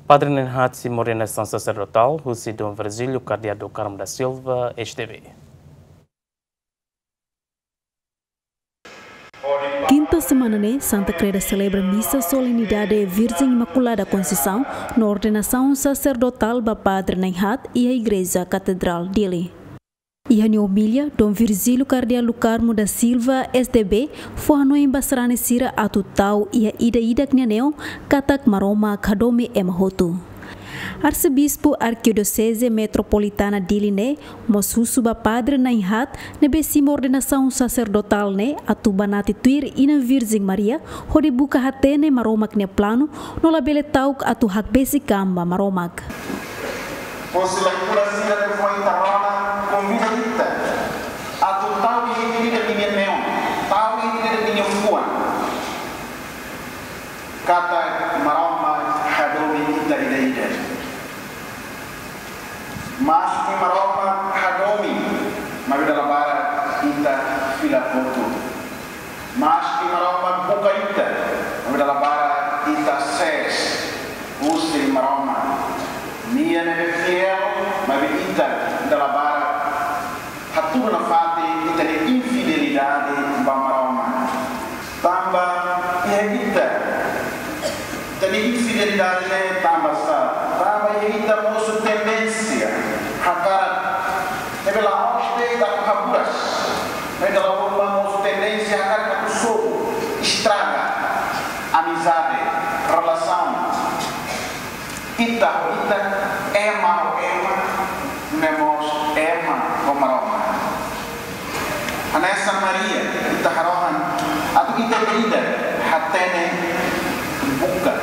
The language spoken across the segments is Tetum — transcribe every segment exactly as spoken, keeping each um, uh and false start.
Padre Nainhard simu ordenasaun saserdotál husi Dom Virgílio Kardeál do Carmo da Silva, S D B. Kinta semana ne'e, Santa Kreda selebra misa solenidade Virgem Imaculada Conceição no ordenasaun saserdotál ba Padre Nainhard iha Igreja Katedrál Dili. Iha nia omilia, Dom Virgílio Kardeál do Carmo da Silva, S D B, fó hanoin ba sarani sira atu ta'uk iha ida-idak nia neon katak Maromak hadomi ema hotu. Arsebispu Arkidioseze Metropolitana Dili ne'e mós husu ba Padre Nainhard ne'ebé simu ordenasaun saserdotál ne'e atu banati tuir Inan Virjen Maria hodi buka hatene Maromak nia planu no labele ta'uk atu hakbesik an ba Maromak. Husi leitura sira ne'ebé foin ita rona, konvida ita atu ta'uk iha ida-idak nia neon, ta'uk iha ida-idak nia fuan katak Maromak hadomi ita ida-idak. Maski Maromak hadomi, maibé dala barak ita fila hotu. Maski Maromak buka ita, maibé dala barak ita sees husi Maromak. Nia ne'ebé fiél, maibé ita dala barak hatudu nafatin ita-nia infidelidade ba Maromak. Tanba iha ita, ita-nia infidelidade ne'e tanba sá? Tanba iha ita mosu tendénsia hakarak, ne'ebé la'ós de'it atu haburas, maibé dala ruma mosu tendénsia hakarak atu sobu, estraga amizade, relasaun ita ho ita, ema ho ema, no mós ema ho Maromak. Hanesan Maria, ita harohan atu ita ida-idak hatene buka.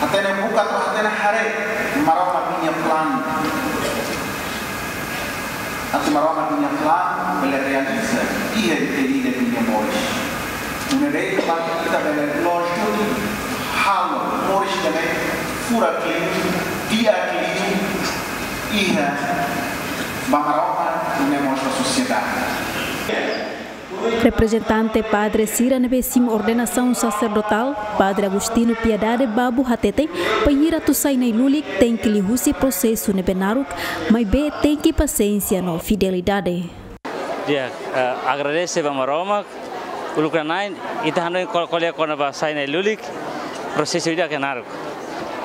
Hatene buka atu hatene haree Maromak nia planu. Atu Maromak nia planu bele realiza iha ita ida-idak nia moris. Nune'e de'it mak ita bele loos duni halo moris ida-ne'e furak liu, di'ak liu iha ba Maromak, nune'e mós ba sosiedade. Reprezentante padre sira ne'ebé simu ordenasaun saserdotál, Padre Agostinho Piedade Babo hateten, bainhira atu sai nai-lulik tenke liuhusi prosesu ne'ebé naruk, maibé tenke pasiénsia no fidelidade. Di'ak, eh, agradese ba Maromak, uluk nanain, ita hanoin kol-, ko'alia kona-ba sai nai-lulik, prosesu ida ke naruk.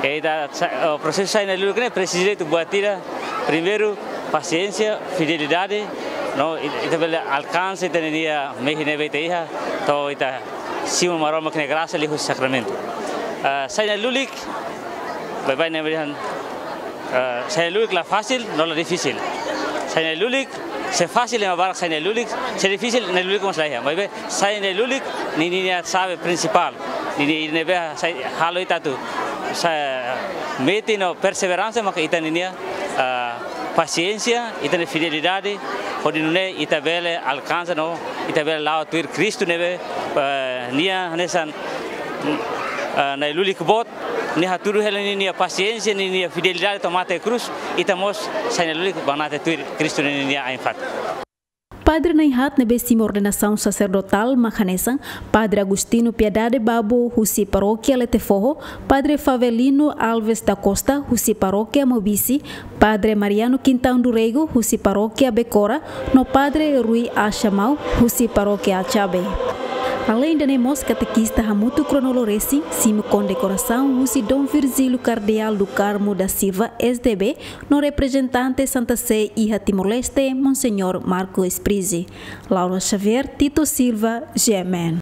E ita sa-, eh, prosesu sai nai-lulik ne'e presiza ita buat ida, primeiru, pasiénsia, fidelidade, no it-, ita bele alkansa ita-nia mehi ne'ebé ita iha, to'o ita simu Maromak nia grasa liuhusi sakramentu. Eh, sai nai-lulik, baibain ne'e berihan, eh, sai nai-lulik la fasil, no la difisil. Sai nai-lulik, se fasil ema barak sai nai-lulik, se difisil nai-lulik mós laiha. Maibé, sai nai-lulik, ninia xave prinsipál. Ninia ne'ebé sai halo ita atu, sa-, metin no perseveransa maka ita ninia, eh, pasiénsia, ita-nia fidelidade, hodi nune'e ita bele alkansa no ita bele la'o tuir Kristu ne'ebé, eh, nia hanesan, eh, nai-lulik boot, nia hatudu hela ninia pasiénsia, ninia fidelidade to'o mate iha krús, ita mós sai nai-lulik banati tuir Kristu ninia ain-fatin. Padre Nainhard ne'ebé simu ordenasaun saserdotál mak hanesan Padre Agostinho Piedade Babo husi Parókia Letefoho, Padre Favelino Alves da Costa husi Parókia Maubisse, Padre Mariano Quintão do Rego husi Parókia Becora, no Padre Rui Achamau husi Parókia Achabe. Aleinde ne'e mós katekista hamutuk kronolo resin, simu kondekorasaun husi Dom Virgílio Kardeál do Carmo da Silva, S D B, no reprezentante Santa Sé iha Timor-Leste, Monseñór Marco Sprizzi. Laura Xavier, Tito Silva, G M N.